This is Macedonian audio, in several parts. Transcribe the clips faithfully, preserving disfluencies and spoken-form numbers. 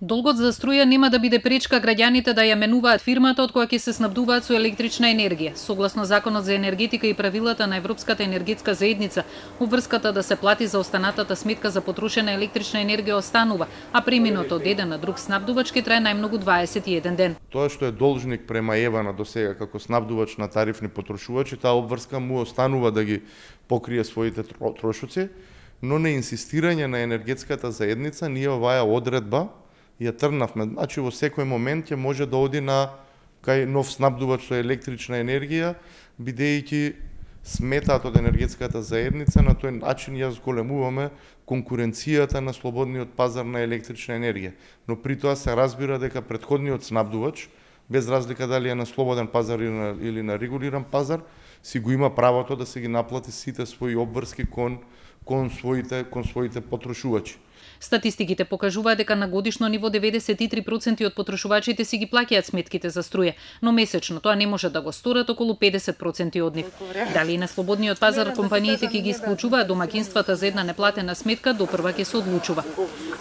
Долгот за струја нема да биде пречка граѓаните да ја менуваат фирмата од која ќе се снабдуваат со електрична енергија. Согласно Законот за енергетика и правилата на Европската енергетска заедница, обврската да се плати за останатата сметка за потрошена електрична енергија останува, а преминот од еден на друг снабдувач ќе трае најмногу дваесет и еден ден. Тоа што е должник према ЕВА-на досега како снабдувач на тарифни потрошувачи, таа обврска му останува да ги покрие своите трошоци, но на инсистирање на енергетската заедница ние оваа одредба ја трнавме. Значи во секој момент ќе може да оди на кај нов снабдувач со електрична енергија, бидејќи сметаат од енергетската заедница, на тој начин ја зголемуваме конкуренцијата на слободниот пазар на електрична енергија. Но при тоа се разбира дека претходниот снабдувач, без разлика дали е на слободен пазар или на, или на регулиран пазар, си го има правото да се ги наплати сите своји обврски кон кон своите кон своите потрошувачи. Статистиките покажуваат дека на годишно ниво деветдесет и три проценти од потрошувачите си ги плаќаат сметките за струја, но месечно тоа не може да го сторат околу педесет проценти од нив. Дали и на слободниот пазар компаниите ќе ги исклучуваат домаќинствата за една неплатена сметка, допрва ќе се одлучува.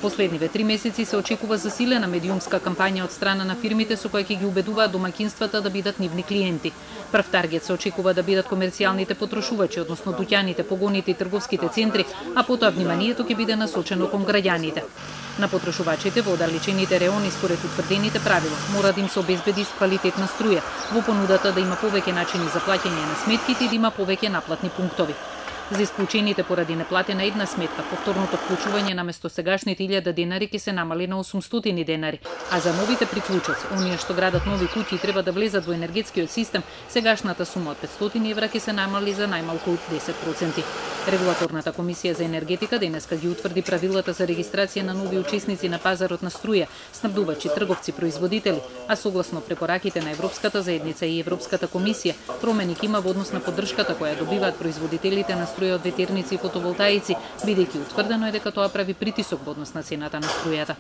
Последниве три месеци се очекува засилена медиумска кампања од страна на фирмите со кои ќе ги убедуваат домаќинствата да бидат нивни клиенти. Прв таргет се очекува да бидат комерцијалните потрошувачи, односно дуќаните, погоните и трговските центри, а потоа вниманието ќе биде насочено кон граѓаните. На потрошувачите во оддалечените реони според утврдените правила мора да им се обезбеди квалитетна струја, во понудата да има повеќе начини за плаќање на сметките и да има повеќе наплатни пунктови. За исклучените поради неплатена една сметка, повторното вклучување наместо сегашните илјада денари ќе се намали на осумстотини денари, а за новите приклучоци, оние што градат нови куќи и треба да влезат во енергетскиот систем, сегашната сума од петстотини евра ќе се намали за најмалку десет проценти. Регулаторната комисија за енергетика денеска ги утврди правилата за регистрација на нови учесници на пазарот на струја, снабдувачи, трговци, производители, а согласно препораките на Европската заедница и Европската комисија, промени ќе има во однос на поддршката која добиваат производителите на струја од ветерници и фотоволтаици, бидејќи утврдено е дека тоа прави притисок во однос на цената на струјата.